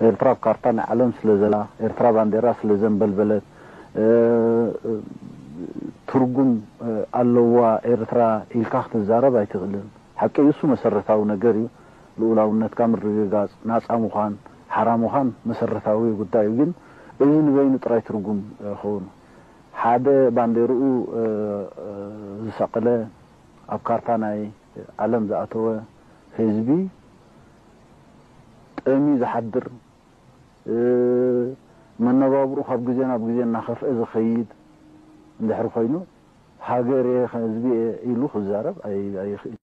ኤርትራ ኣብ ካርታ ናይ ዓለም ስለ ዘላ፣ ኤርትራ ባንዴራ ስለ ዘንበልበለት፣ እ፣ ትርጉም፣ እ፣ ኣለዋ ኤርትራ ኢልካ ክትዛረብ ኣይትኽእልን። ሓቂ እዩ፣ እሱ መሰረታዊ ነገር እዩ። ልኡላውነትካ ምርግጋጽ፣ ናጻ ምዃን፣ ሓራ ምዃን መሰረታዊ ጉዳይ እዩ። ግን እዚ ንበይኑ ጥራይ ትርጉም፣ እ፣ ክኸውን። ሓደ ባንዴርኡ፣ እ፣ እ፣ ዝሰቐለ፣ ኣብ ካርታ ናይ ዓለም ዝኣተወ ህዝቢ ጠምዩ ዝሓድር፣ እ፣ መነባብርኡ ካብ ግዜ ናብ ግዜ እናኸፍአ ዝኸይድ እንድሕር ኮይኑ፣ ሃገር እየ፣ ህዝቢ እየ ኢሉ ክዛረብ ኣይ-፣ ኣይኽእል።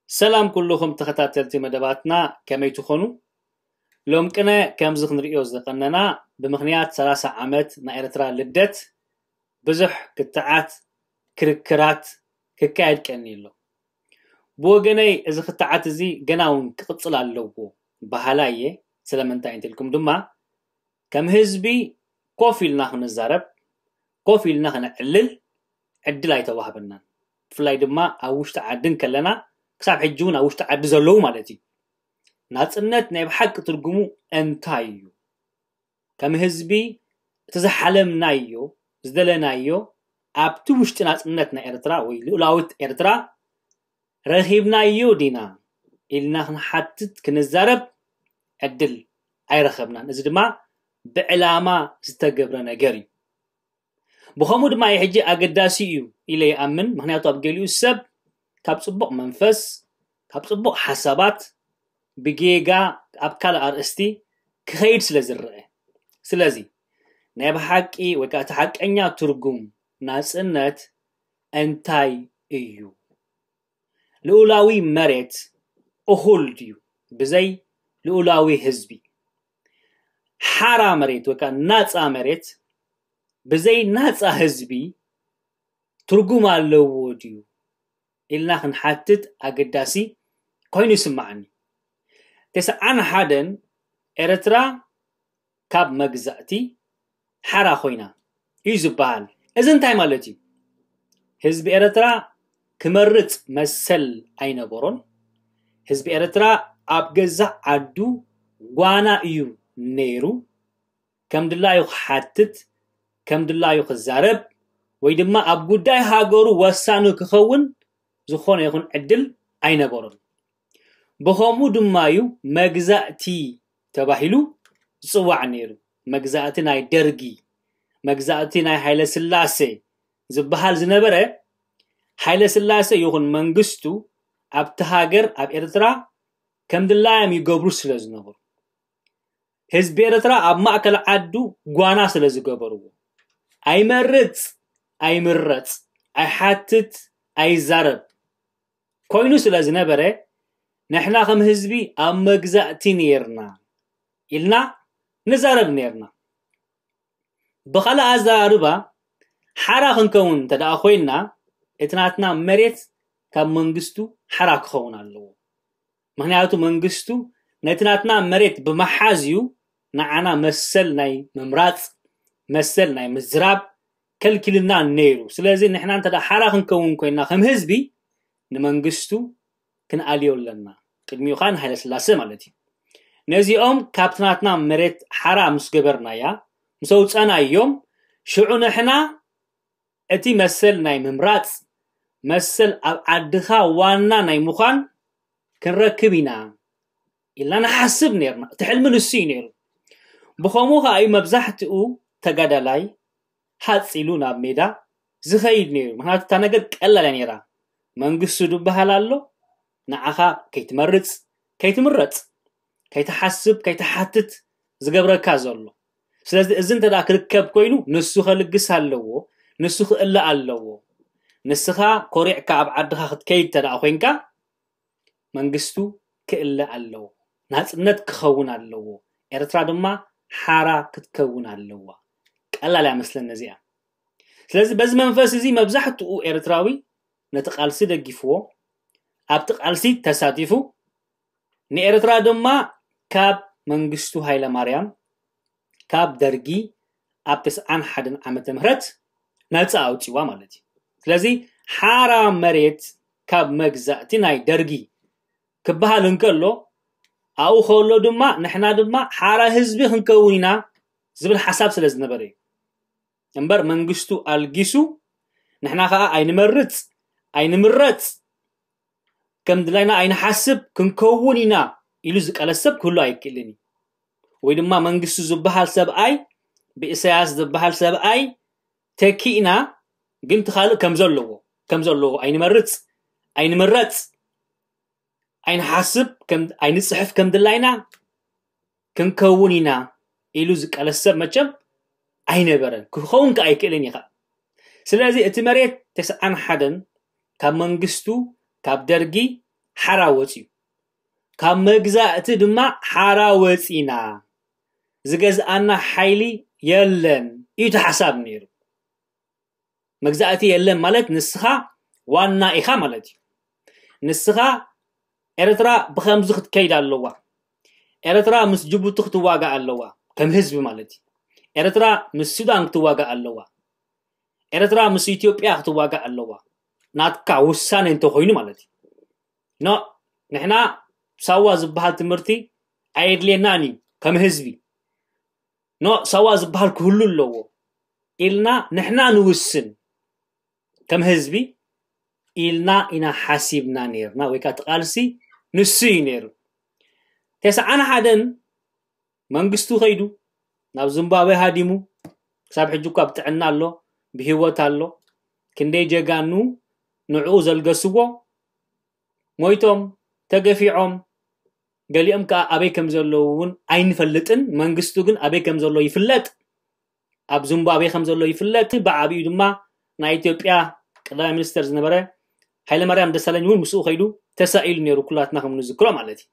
ሰላም ኩልኹም ተኸታተልቲ መደባትና፣ ከመይ ትኾኑ? ሎም ቅነ ከምዚ ክንርእዮ ዝቐነና፣ ብምኽንያት ሰላሳ ዓመት ናይ ኤርትራ ልደት ብዙሕ ክትዓት፣ ክርክራት ክካየድ ቀኒ ኣሎ። ብወገነይ እዚ ክትዓት እዚ ገና እውን ክቕጽል ኣለዎ በሃላይ እየ። ስለምንታይ እንተልኩም ድማ፣ ከም ህዝቢ ኮፍ ኢልና ክንዛረብ፣ ኮፍ ኢልና ክነዕልል ዕድል ኣይተዋህበናን። ብፍላይ ድማ ኣብ ውሽጢ ዓዲ እንከለና፣ ክሳብ ሕጂ እውን ኣብ ውሽጢ ዓዲ ዘለዉ ማለት እዩ። ናጽነት ናይ ብሓቂ ትርጉሙ እንታይ እዩ? ከም ህዝቢ እቲ ዝሓለምናዮ፣ ዝደለናዮ፣ ኣብቲ ውሽጢ ናጽነት ናይ ኤርትራ ወይ ልኡላዊት ኤርትራ ረኺብናዮ ዲና ኢልና ክንሓትት፣ ክንዛረብ ዕድል ኣይረኸብናን። እዚ ድማ ብዕላማ ዝተገብረ ነገር እዩ። ብኸምኡ ድማ እዩ ሕጂ ኣገዳሲ እዩ ኢለ ይኣምን። ምኽንያቱ ኣብ ገሊኡ ሰብ ካብ ጽቡቕ መንፈስ፣ ካብ ጽቡቕ ሓሳባት ብጌጋ ኣብ ካልእ ኣርእስቲ ክኸይድ ስለ ዝረአ። ስለዚ ናይ ብሓቂ ወይ ከኣ እቲ ሓቀኛ ትርጉም ናጽነት እንታይ እዩ? ልኡላዊ መሬት እኹል ድዩ ብዘይ ልኡላዊ ህዝቢ? ሓራ መሬት ወይ ከኣ ናጻ መሬት ብዘይ ናጻ ህዝቢ ትርጉም ኣለዎ ድዩ ኢልና ክንሓትት ኣገዳሲ ኮይኑ ይስምዓኒ። ተስዓን ሓደን ኤርትራ ካብ መግዛእቲ ሓራ ኮይና እዩ ዝበሃል። እዚ እንታይ ማለት እዩ? ህዝቢ ኤርትራ ክመርጽ መሰል ኣይነበሮን። ህዝቢ ኤርትራ ኣብ ገዛእ ዓዱ ጓና እዩ ነይሩ። ከም ድላዩ ክሓትት፣ ከም ድላዩ ክዛረብ፣ ወይ ድማ ኣብ ጉዳይ ሃገሩ ወሳኒ ክኸውን ዝኾነ ይኹን ዕድል ኣይነበሮን። ብኸምኡ ድማ እዩ መግዛእቲ ተባሂሉ ዝጽዋዕ ነይሩ። መግዛእቲ ናይ ደርጊ፣ መግዛእቲ ናይ ሃይለ ስላሴ ዝበሃል ዝነበረ፣ ሃይለ ስላሴ ይኹን መንግስቱ ኣብቲ ሃገር፣ ኣብ ኤርትራ፣ ከም ድላዮም ይገብሩ ስለ ዝነበሩ፣ ህዝቢ ኤርትራ ኣብ ማእከል ዓዱ ጓና ስለ ዝገበርዎ፣ ኣይመርጽ፣ ኣይምረጽ፣ ኣይሓትት፣ ኣይዛረብ ኮይኑ ስለ ዝነበረ፣ ንሕና ከም ህዝቢ ኣብ መግዛእቲ ነይርና ኢልና ንዛረብ ነይርና። ብኻልእ ኣዘራርባ፣ ሓራ ክንከውን እንተ ደኣ ኮይንና፣ እቲ ናትና መሬት ካብ መንግስቱ ሓራ ክኸውን ኣለዎ። ምኽንያቱ መንግስቱ ነቲ ናትና መሬት ብምሓዝ እዩ ንዓና መሰል ናይ ምምራጽ፣ መሰል ናይ ምዝራብ ከልኪልና ነይሩ። ስለዚ ንሕና እንተ ደኣ ሓራ ክንከውን ኮይንና ከም ህዝቢ፣ ንመንግስቱ ክንኣልዮ ኣለና። ቅድሚኡ ኸኣ ንሃይለ ስላሴ ማለት እዩ። ነዚኦም ካብቲ ናትና መሬት ሓራ ምስ ገበርናያ፣ ምስ ኣውጸናዮም፣ ሽዑ ንሕና እቲ መሰል ናይ ምምራጽ፣ መሰል ኣብ ዓድኻ ዋና ናይ ምዃን ክንረክብ ኢና ኢልና ንሓስብ ነይርና። እቲ ሕልሚ ንሱ እዩ ነይሩ። ብኸምኡ ኸኣ እዩ መብዛሕትኡ ተጋዳላይ ሃጽ ኢሉ ናብ ሜዳ ዝኸይድ ነይሩ። ምኽንያቱ እታ ነገር ቀላል እያ ነይራ። መንግስቱ ዝበሃል ኣሎ፣ ንዓኻ ከይትመርጽ፣ ከይትምረጽ፣ ከይትሓስብ፣ ከይትሓትት ዝገብረካ ዘሎ። ስለዚ እዚ እንተ ደኣ ክርከብ ኮይኑ፣ ንሱ ከልግስ ኣለዎ፣ ንሱ ክእለ ኣለዎ። ንስኻ ኮሪዕካ ኣብ ዓድኻ ክትከይድ እንተ ደኣ ኮይንካ፣ መንግስቱ ክእለ ኣለዎ፣ ናጽነት ክኸውን ኣለዎ፣ ኤርትራ ድማ ሓራ ክትከውን ኣለዋ። ቀላል ኣይመስለን ነዚኣ። ስለዚ በዚ መንፈስ እዚ መብዛሕትኡ ኤርትራዊ ነቲ ቃልሲ ደጊፍዎ፣ ኣብቲ ቃልሲ ተሳቲፉ፣ ንኤርትራ ድማ ካብ መንግስቱ ሃይለማርያም፣ ካብ ደርጊ ኣብ ተስዓን ሓደን ዓመተ ምህረት ነጻ ኣውጺዋ ማለት እዩ። ስለዚ ሓራ መሬት ካብ መግዛእቲ ናይ ደርጊ ክበሃል እንከሎ፣ ኣብኡ ከሎ ድማ ንሕና ድማ ሓራ ህዝቢ ክንከውን ኢና ዝብል ሓሳብ ስለ ዝነበረ እዩ። እምበር መንግስቱ ኣልጊሱ ንሕና ከዓ ኣይንመርጽ ኣይንምረጽ ከም ድላይና ኣይንሓስብ ክንከውን ኢና ኢሉ ዝቀለስ ሰብ ክህሉ ኣይክእልን እዩ። ወይ ድማ መንግስቱ ዝበሃል ሰብኣይ ብኢሳያስ ዝበሃል ሰብኣይ ተኪእና ግን ትኻልእ ከም ዘለዎ ከም ዘለዎ ኣይንመርጽ ኣይንምረጽ ኣይንሓስብ ኣይንፅሕፍ ከም ድላይና ክንከውን ኢና ኢሉ ዝቀለስ ሰብ መቸም ኣይነበረን፣ ክኸውን ከ ኣይክእልን እዩ። ስለዚ እቲ መሬት ተስዓን ሓደን ካብ መንግስቱ ካብ ደርጊ ሓራ ወፅዩ፣ ካብ መግዛእቲ ድማ ሓራ ወፂና፣ ዝገዝኣና ሓይሊ የለን እዩ እቲ ሓሳብ ነይሩ። መግዛእቲ የለን ማለት ንስኻ ዋና ኢኻ ማለት እዩ። ንስኻ ኤርትራ ብኸምዚ ክትከይድ ኣለዋ፣ ኤርትራ ምስ ጅቡቲ ክትዋጋእ ኣለዋ ከም ህዝቢ ማለት እዩ። ኤርትራ ምስ ሱዳን ክትዋጋእ ኣለዋ፣ ኤርትራ ምስ ኢትዮጵያ ክትዋጋእ ኣለዋ፣ ናትካ ውሳኔ እንተኾይኑ ማለት እዩ። ኖ፣ ንሕና ሳዋ ዝበሃል ትምህርቲ ኣየድልየናን እዩ ከም ህዝቢ። ኖ፣ ሳዋ ዝበሃል ክህሉ ኣለዎ ኢልና ንሕና ንውስን ከም ህዝቢ ኢልና ኢና ሓሲብና ነርና። ወይ ከዓ ትቃልሲ ንሱ እዩ ነይሩ። ተስዓን ሓደን መንግስቱ ከይዱ ናብ ዝምባብዌ ሃዲሙ፣ ክሳብ ሕጂ እኳ ብጥዕና ኣሎ፣ ብህይወት ኣሎ። ክንደይ ጀጋኑ ንዕኡ ዘልገስዎ ሞይቶም፣ ተገፊዖም፣ ገሊኦም ከዓ ኣበይ ከም ዘለዉ እውን ኣይንፈልጥን። መንግስቱ ግን ኣበይ ከም ዘሎ ይፍለጥ፣ ኣብ ዚምባብዌ ከም ዘሎ ይፍለጥ። ብዓብዩ ድማ ናይ ኢትዮጵያ ቀዳማይ ሚኒስተር ዝነበረ ሃይለማርያም ደሳለኝ እውን ምስኡ ከይዱ ተሳኢሉ ነይሩ፣ ኩላትና ከም ንዝክሮ ማለት እዩ።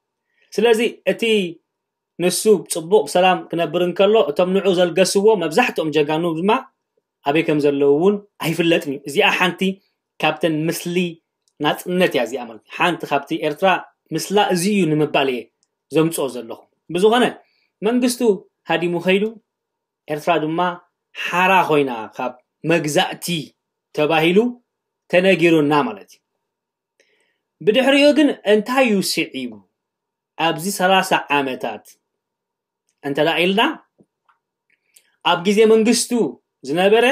ስለዚ እቲ ንሱ ጽቡቕ ብሰላም ክነብር እንከሎ፣ እቶም ንዑ ዘልገስዎ መብዛሕትኦም ጀጋኑ ድማ ኣበይ ከም ዘለዉ እውን ኣይፍለጥን እዩ። እዚኣ ሓንቲ ካብተን ምስሊ ናጽነት እያ እዚኣ ማለት እዩ። ሓንቲ ካብቲ ኤርትራ ምስላ እዚ እዩ ንምባል እየ ዘምጽኦ ዘለኹ። ብዝኾነ መንግስቱ ሃዲሙ ከይዱ፣ ኤርትራ ድማ ሓራ ኮይና ካብ መግዛእቲ ተባሂሉ ተነጊሩና ማለት እዩ። ብድሕሪኡ ግን እንታይ እዩ ስዒቡ? ኣብዚ ሰላሳ ዓመታት እንተ ደኣ ኢልና፣ ኣብ ግዜ መንግስቱ ዝነበረ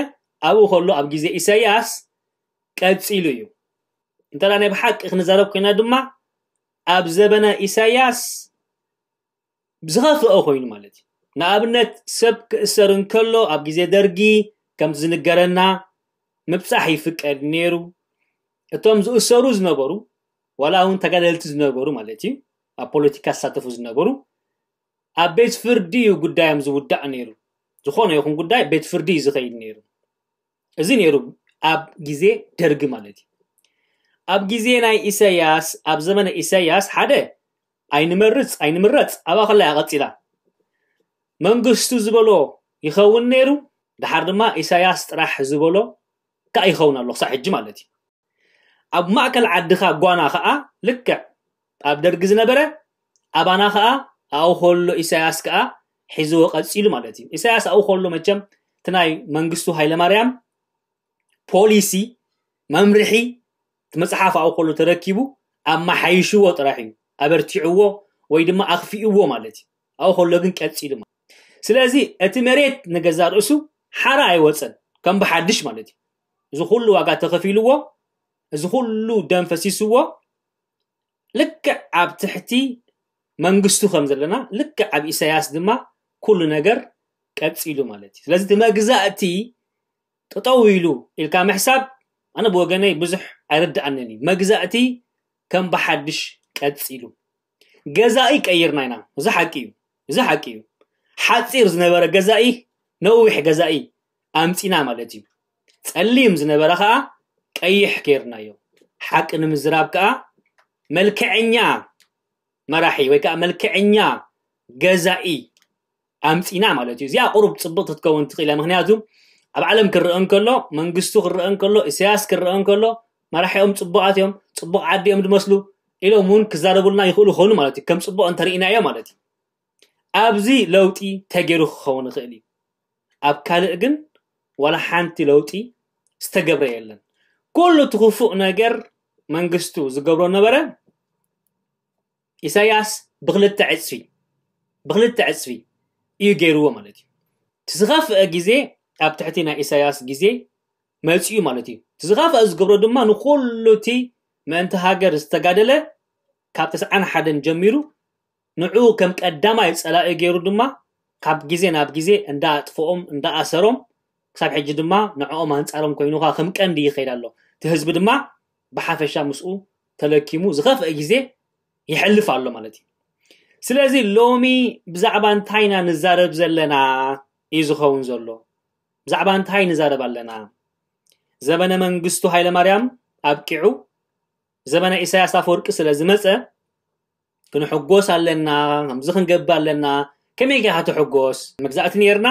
ኣብኡ ከሎ ኣብ ግዜ ኢሳያስ ቀጺሉ እዩ። እንተ ደኣ ናይ ብሓቂ ክንዛረብ ኮይና ድማ ኣብ ዘበነ ኢሳያስ ዝኸፍአ ኮይኑ ማለት እዩ። ንኣብነት ሰብ ክእሰር እንከሎ ኣብ ግዜ ደርጊ ከምቲ ዝንገረና ምብጻሕ ይፍቀድ ነይሩ። እቶም ዝእሰሩ ዝነበሩ ዋላ እውን ተጋደልቲ ዝነበሩ ማለት እዩ፣ ኣብ ፖለቲካ ዝሳተፉ ዝነበሩ ኣብ ቤት ፍርዲ እዩ ጉዳዮም ዝውዳእ ነይሩ። ዝኾነ ይኹን ጉዳይ ቤት ፍርዲ እዩ ዝኸይድ ነይሩ። እዚ ነይሩ ኣብ ግዜ ደርጊ ማለት እዩ። ኣብ ግዜ ናይ ኢሳያስ፣ ኣብ ዘመነ ኢሳያስ ሓደ ኣይንመርጽ ኣይንምረጽ ኣብኣ ከላ እያ ቀጺላ። መንግስቱ ዝበሎ ይኸውን ነይሩ፣ ድሓር ድማ ኢሳያስ ጥራሕ ዝበሎ ከዓ ይኸውን ኣሎ ክሳብ ሕጂ ማለት እዩ። ኣብ ማእከል ዓድኻ ጓና ከዓ ልክዕ ኣብ ደርጊ ዝነበረ ኣባና ከዓ ኣብኡ ከሎ ኢሳያስ ከዓ ሒዝዎ ቀጺሉ ማለት እዩ። ኢሳያስ ኣብኡ ከሎ መቸም እቲ ናይ መንግስቱ ሃይለማርያም ፖሊሲ መምርሒ እቲ መጽሓፍ ኣብኡ ከሎ ተረኪቡ ኣመሓይሽዎ ጥራሕ እዩ፣ ኣበርቲዕዎ ወይ ድማ ኣኽፊእዎ ማለት እዩ። ኣብኡ ከሎ ግን ቀጺሉ ማለት። ስለዚ እቲ መሬት ንገዛ ርእሱ ሓራ ኣይወጸን፣ ከም ብሓድሽ ማለት እዩ። እዚ ኩሉ ዋጋ ተኸፊልዎ፣ እዚ ኩሉ ደም ፈሲስዎ፣ ልክዕ ኣብ ትሕቲ መንግስቱ ከም ዘለና፣ ልክዕ ኣብ ኢሳያስ ድማ ኩሉ ነገር ቀጺሉ ማለት እዩ። ስለዚ እቲ መግዛእቲ ጠጠው ኢሉ ኢልካ ምሕሳብ ኣነ ብወገነይ ብዙሕ ኣይርድኣንን እዩ። መግዛእቲ ከም ብሓድሽ ቀጺሉ። ገዛኢ ቀይርና ኢና። እዚ ሓቂ እዩ። እዚ ሓቂ እዩ። ሓጺር ዝነበረ ገዛኢ ነዊሕ ገዛኢ ኣምጺና ማለት እዩ። ጸሊም ዝነበረ ከዓ ቀይሕ ገይርናዮ። ሓቂ ንምዝራብ ከዓ መልክዐኛ መራሒ ወይ ከዓ መልክዐኛ ገዛኢ ኣምፂና ማለት እዩ። እዚኣ ቁሩብ ፅብቕቲ ክትከውን ትኽእል እያ። ምክንያቱ ኣብ ዓለም ክረአ እንከሎ፣ መንግስቱ ክረአ እንከሎ፣ ኢሳያስ ክረአ እንከሎ፣ መራሒኦም ፅቡቓት እዮም፣ ፅቡቕ ዓዲ እዮም ዝመስሉ ኢሎም እውን ክዛረቡልና ይኽእሉ ይኾኑ ማለት እዩ። ከም ፅቡቕ እንተርኢናዮ ማለት እዩ። ኣብዚ ለውጢ ተገይሩ ክኸውን ይኽእል እዩ። ኣብ ካልእ ግን ዋላ ሓንቲ ለውጢ ዝተገብረ የለን። ኩሉ እቲ ክፉእ ነገር መንግስቱ ዝገብሮ ነበረ። ኢሳያስ ብክልተ ዕፅፊ ብክልተ ዕፅፊ እዩ ገይርዎ ማለት እዩ። እቲ ዝኸፍአ ግዜ ኣብ ትሕቲ ናይ ኢሳያስ ግዜ መፂኡ ማለት እዩ። እቲ ዝኸፍአ ዝገብሮ ድማ ንኩሉ እቲ ምእንቲ ሃገር ዝተጋደለ ካብ ተስዓን ሓደን ጀሚሩ ንዕኡ ከም ቀዳማይ ፀላኢ ገይሩ ድማ ካብ ግዜ ናብ ግዜ እንዳኣጥፍኦም እንዳኣሰሮም ክሳብ ሕጂ ድማ ንዕኦም ኣንፃሮም ኮይኑ ከዓ ከም ቀንዲ ይኸይድ ኣሎ። እቲ ህዝቢ ድማ ብሓፈሻ ምስኡ ተለኪሙ ዝኸፍአ ግዜ ይሕልፍ ኣሎ ማለት እዩ። ስለዚ ሎሚ ብዛዕባ እንታይ ኢና ንዛረብ ዘለና እዩ ዝኸውን ዘሎ። ብዛዕባ እንታይ ንዛረብ ኣለና? ዘበነ መንግስቱ ሃይለማርያም ኣብቂዑ ዘበነ ኢሳያስ ኣፈወርቂ ስለ ዝመፀ ክንሕጎስ ኣለና፣ ከምዚ ክንገብር ኣለና። ከመይ ጌርካ ትሕጎስ? መግዛእቲ ነይርና፣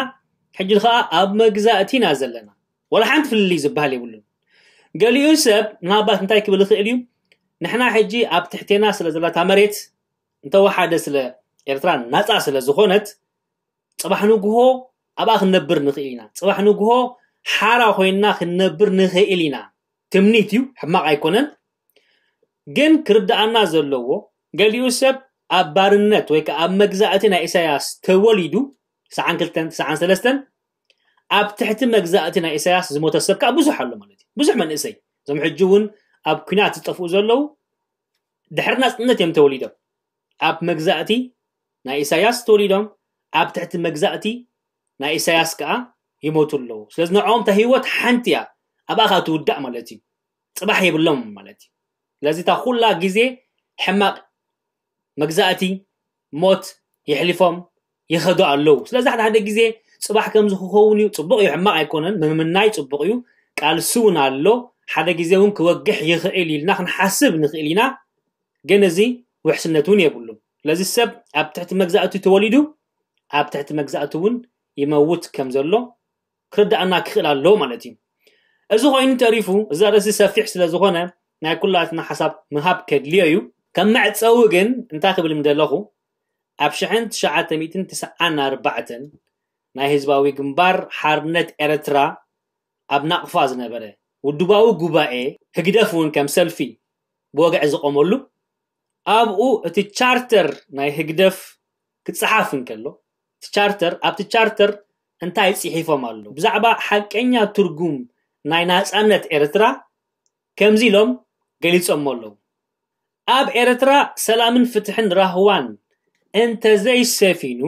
ሕጂ ከዓ ኣብ መግዛእቲ ኢና ዘለና። ወላ ሓንቲ ፍልልይ ዝበሃል የብሉን። ገሊኡ ሰብ ምናልባት እንታይ ክብል ይኽእል እዩ? ንሕና ሕጂ ኣብ ትሕቴና ስለ ዘላታ መሬት እንተወሓደ ስለ ኤርትራ ናፃ ስለ ዝኾነት ፅባሕ ንግሆ ኣብኣ ክንነብር ንኽእል ኢና። ፅባሕ ንግሆ ሓራ ኮይንና ክንነብር ንኽእል ኢና። ትምኒት እዩ፣ ሕማቕ ኣይኮነን። ግን ክርድኣና ዘለዎ ገሊኡ ሰብ ኣብ ባርነት ወይ ከዓ ኣብ መግዛእቲ ናይ ኢሳያስ ተወሊዱ ትስዓን ክልተን ትስዓን ሰለስተን ኣብ ትሕቲ መግዛእቲ ናይ ኢሳያስ ዝሞተ ሰብ ከዓ ብዙሕ ኣሎ ማለት እዩ። ብዙሕ መንእሰይ እዞም ሕጂ እውን ኣብ ኲናት ዝጠፍኡ ዘለዉ ድሕሪ ናፅነት እዮም ተወሊዶም። ኣብ መግዛእቲ ናይ ኢሳያስ ተወሊዶም ኣብ ትሕቲ መግዛእቲ ናይ ኢሳያስ ከዓ ይሞቱ ኣለዉ። ስለዚ ንዕኦም እታ ህይወት ሓንቲ እያ፣ ኣብኣ ከዓ ትውዳእ ማለት እዩ። ፅባሕ የብሎም ማለት እዩ። ስለዚ እታ ኩላ ግዜ ሕማቕ መግዛእቲ ሞት የሕሊፎም ይኸዱ ኣለዉ። ስለዚ ሓደ ሓደ ግዜ ፅባሕ ከምዚ ክኸውን እዩ፣ ፅቡቕ እዩ፣ ሕማቕ ኣይኮነን፣ ምምናይ ፅቡቕ እዩ። ቃልሲ እውን ኣሎ፣ ሓደ ግዜ እውን ክወግሕ ይኽእል ኢልና ክንሓስብ ንኽእል ኢና። ግን እዚ ውሕስነት እውን የብሉን። ስለዚ ሰብ ኣብ ትሕቲ መግዛእቲ ተወሊዱ ኣብ ትሕቲ መግዛእቲ እውን ይመውት ከም ዘሎ ክርድኣና ክኽእል ኣለዎ ማለት እዩ። እዚ ኮይኑ ተሪፉ እዚ ኣርእስቲ ሰፊሕ ስለ ዝኾነ ናይ ኩላትና ሓሳብ ምሃብ ከድልዮ እዩ። ከም መዕፀዊ ግን እንታይ ክብል ምደለኹ፣ ኣብ ሽሕን ትሽዓተ ሚእትን ትስዓን ኣርባዕተን ናይ ህዝባዊ ግንባር ሓርነት ኤርትራ ኣብ ናቕፋ ዝነበረ ውድባዊ ጉባኤ ህግደፍ እውን ከም ሰልፊ ብወግዒ ዝቆመሉ ኣብኡ እቲ ቻርተር ናይ ህግደፍ ክፀሓፍ እንከሎ እቲ ቻርተር ኣብቲ ቻርተር እንታይ ፅሒፎም ኣለዉ ብዛዕባ ሓቀኛ ትርጉም ናይ ናፃነት ኤርትራ ከምዚ ኢሎም ገሊፆሞ ኣለዉ። ኣብ ኤርትራ ሰላምን ፍትሕን ራህዋን እንተዘይሰፊኑ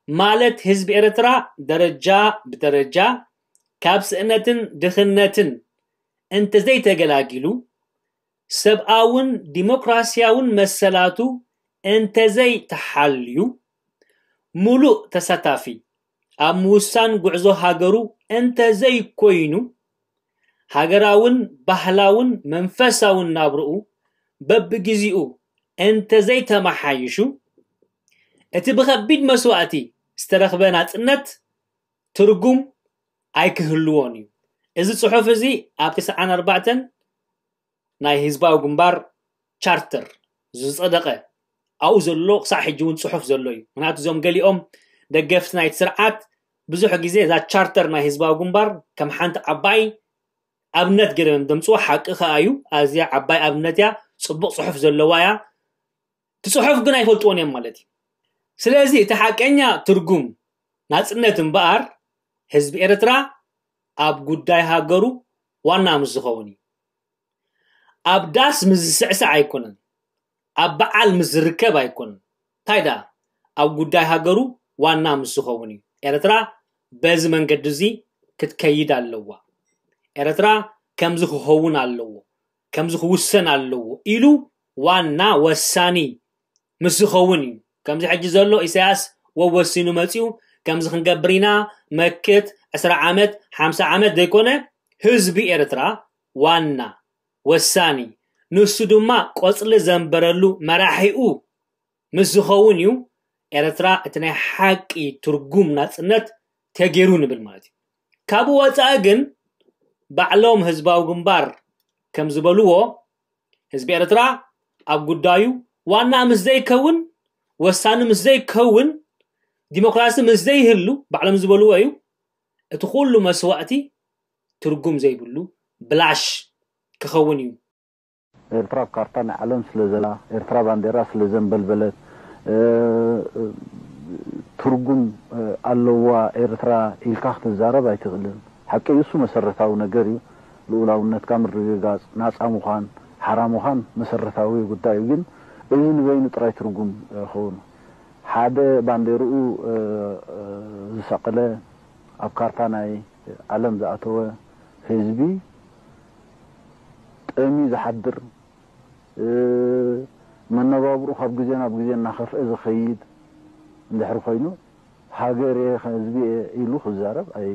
ማለት ህዝቢ ኤርትራ ደረጃ ብደረጃ ካብ ስእነትን ድኽነትን እንተዘይተገላጊሉ ሰብኣውን ዲሞክራሲያውን መሰላቱ እንተዘይተሓልዩ ሙሉእ ተሳታፊ ኣብ ምውሳን ጉዕዞ ሃገሩ እንተዘይኮይኑ ሃገራውን ባህላውን መንፈሳውን ናብርኡ በብግዚኡ እንተዘይተመሓይሹ እቲ ብኸቢድ መስዋእቲ ዝተረኽበ ናፅነት ትርጉም ኣይክህልዎን እዩ። እዚ ፅሑፍ እዚ ኣብ ትስዓን ኣርባዕተን ናይ ህዝባዊ ግንባር ቻርተር ዝፀደቐ ኣብኡ ዘሎ ክሳዕ ሕጂ እውን ፅሑፍ ዘሎ እዩ። ምክንያቱ እዞም ገሊኦም ደገፍቲ ናይቲ ስርዓት ብዙሕ ግዜ እዛ ቻርተር ናይ ህዝባዊ ግንባር ከም ሓንቲ ዓባይ ኣብነት ገይሮም እዮም ዘምፅዋ። ሓቂ ከዓ እዩ፣ ኣዝያ ዓባይ ኣብነት እያ፣ ፅቡቕ ፅሑፍ ዘለዋ እያ። እቲ ፅሑፍ ግን ኣይፈልጥዎን እዮም ማለት እዩ። ስለዚ እቲ ሓቀኛ ትርጉም ናፅነት እምበኣር ህዝቢ ኤርትራ ኣብ ጉዳይ ሃገሩ ዋና ምስ ዝኸውን እዩ። ኣብ ዳስ ምስ ዝስዕስዕ ኣይኮነን፣ ኣብ በዓል ምስ ዝርከብ ኣይኮነን። እንታይ ደኣ ኣብ ጉዳይ ሃገሩ ዋና ምስ ዝኸውን እዩ። ኤርትራ በዚ መንገዲ እዚ ክትከይድ ኣለዋ። ኤርትራ ከምዚ ክኸውን ኣለዎ፣ ከምዚ ክውሰን ኣለዎ ኢሉ ዋና ወሳኒ ምስ ዝኸውን እዩ። ከምዚ ሕጂ ዘሎ ኢሳያስ ወወሲኑ መፂኡ ከምዚ ክንገብር ኢና መክት ዕስራ ዓመት ሓምሳ ዓመት ዘይኮነ ህዝቢ ኤርትራ ዋና ወሳኒ ንሱ ድማ ቆጽሊ ዘንበረሉ መራሒኡ ምስ ዝኸውን እዩ ኤርትራ እቲ ናይ ሓቂ ትርጉም ናጽነት ተገይሩ ንብል ማለት እዩ። ካብኡ ወጻኢ ግን ባዕሎም ህዝባዊ ግንባር ከም ዝበልዎ ህዝቢ ኤርትራ ኣብ ጉዳዩ ዋና ምስ ዘይከውን፣ ወሳኒ ምስ ዘይከውን፣ ዲሞክራሲ ምስ ዘይህሉ ባዕሎም ዝበልዎ እዩ እቲ ኩሉ መስዋእቲ ትርጉም ዘይብሉ ብላሽ ክኸውን እዩ። ኤርትራ ኣብ ካርታ ናይ ዓለም ስለ ዘላ፣ ኤርትራ ባንዴራ ስለ ዘንበልበለት፣ ትርጉም ኣለዋ ኤርትራ ኢልካ ክትዛረብ ኣይትኽእልን። ሓቂ እዩ፣ እሱ መሰረታዊ ነገር እዩ። ልኡላውነትካ ምርግጋጽ፣ ናጻ ምዃን፣ ሓራ ምዃን መሰረታዊ ጉዳይ እዩ። ግን እዚ ንበይኑ ጥራይ ትርጉም ክኸውን ሓደ ባንዴርኡ ዝሰቐለ ኣብ ካርታ ናይ ዓለም ዝኣተወ ህዝቢ ጠምዩ ዝሓድር መነባብርኡ ካብ ግዜ ናብ ግዜ እናኸፍአ ዝኸይድ እንድሕር ኮይኑ ሃገር እየ ህዝቢ እየ ኢሉ ክዛረብ ኣይ